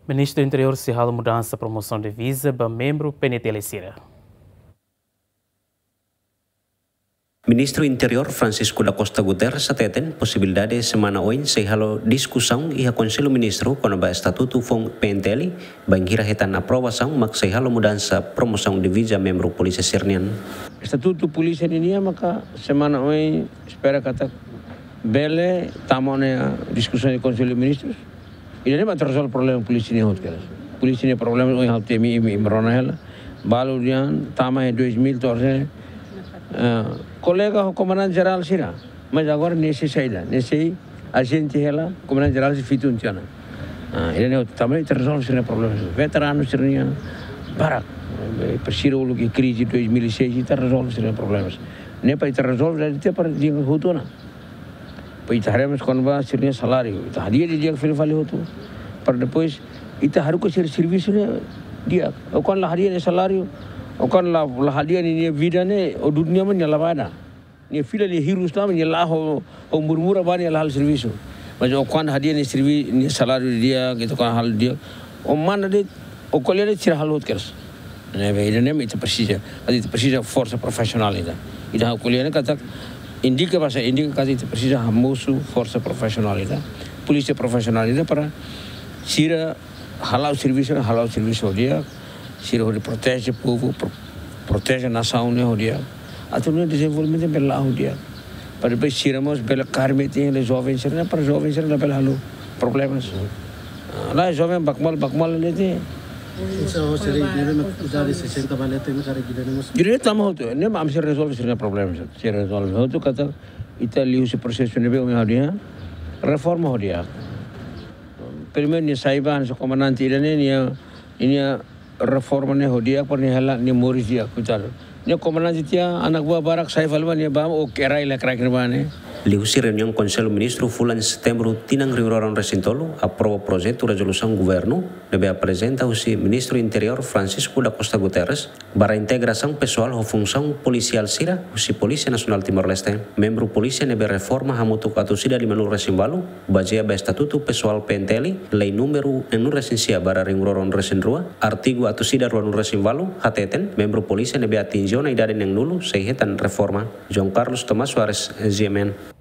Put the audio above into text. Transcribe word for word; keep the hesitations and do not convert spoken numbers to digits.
Ministru Interiór sei halo mudansa promosaun diviza ba membru P N T L sira. Ministru Interiór Francisco da Costa Guterres hateten posibilidade semana oin sei halo diskusaun iha Konsellu Ministru kona-ba estatutu foun P N T L, bainhira hetan aprovasaun mak sei halo mudansa promosaun diviza membru polísia sira-nian. Estatutu polísia ninian maka semana oin espera katak bele tama ona iha diskusaun iha Konsellu Ministrus. Ida-ne'e mak ita rezolve problema polísia nian hotu kedas. Polísia nian problema ohin ha'u temi imi, imi rona hela. Balu dehan tama iha dois mil torse, eh, kolega ho komandante jerál sira. Mas agora ne'e sei saida, ne'e sei ajente hela, komandante jerál sei fitun tiha ona. Ah, ida-ne'e hotu tanba ita rezolve sira-nia problema. Veteranu sira-nian barak, eh, presiza uluk iha krize dois mil e seis, ita rezolve sira-nia problema. Ne'e para ita rezolve, ita para dia hotu ona. Para ita haree mós kona-ba sira-nia saláriu. Ita hadi'a didi'ak fila fali hotu. Para depois ita haruka sira servisu ne'e di'ak. Ó kuandu la hadi'a nia saláriu, ó kuandu la, la hadi'a nia, nia vida ne'e, ó dudu nia mós nia la bada. Nia fila nia hirus tama, nia la'o ho, ho murmura ba nia la halo servisu. Mas ó kuandu hadi'a nia servi-, nia saláriu di'ak, ita kuandu halo di'ak. Ó manda de'it, ó ko'alia de'it sira halo hotu kedas. Ne'ebé, ida-ne'e mak ita presiza, ita presiza forsa profisionál ida. Ida ha'u ko'alia ne'e katak, indika basa, indika katak ita presiza hamosu forsa profisionál ida. Polísia profisionál ida para sira hala'o servisu, hala'o servisu ho di'ak, sira hodi proteje povu, pro-, proteje nasaun ne'e ho di'ak. Atu nune'e dezenvolvimentu bele la'o ho di'ak. Para depois sira mós bele kaer metin hela joven sira-ne'e, para joven sira-ne'e labele halo problemas. Ah, la joven bakmal, bakmal ne'e de'it. Entaun, se ele deve uma idade de sessenta ba leten, mas era que devemos. Direitu tama hotu, ne'e mak ami sei rezolve sira-nia problemas. Sei rezolve hotu katak ita liuhusi prosesu ne'ebé ohin ha'u dehan, reforma ho di'ak. Primeiru nia sai ba, nia komandante ida-ne'e, nia, nia reforma ne'e ho di'ak, para nia hela, nia moris di'ak, koitadu. Nia komandante tiha, anak buah barak sai fali ba, nia ba, ó kerai la kerai kena ba ne'e. Liuhusi reuniaun Konsellu Ministru fulan Setembru tinan rihun rua ruanulu resin tolu, aprova projetu rezolusaun governu, ne'ebé aprezenta husi Ministru Interiór Francisco da Costa Guterres, ba reintegrasaun pesoál ho funsaun polisiál sira husi Polísia Nasionál Timor-Leste. Membru polísia ne'ebé reforma hamutuk atus ida limanulu resin ualu, bazeia ba estatutu pesoál P N T L, lei númeru enam resin sia barra rihun rua ruanulu resin rua, artigu atus ida ruanulu resin ualu, hateten, membru polísia ne'ebé atinje ona idade neenulu, sei hetan reforma. João Carlos Tomás Soares, G M N.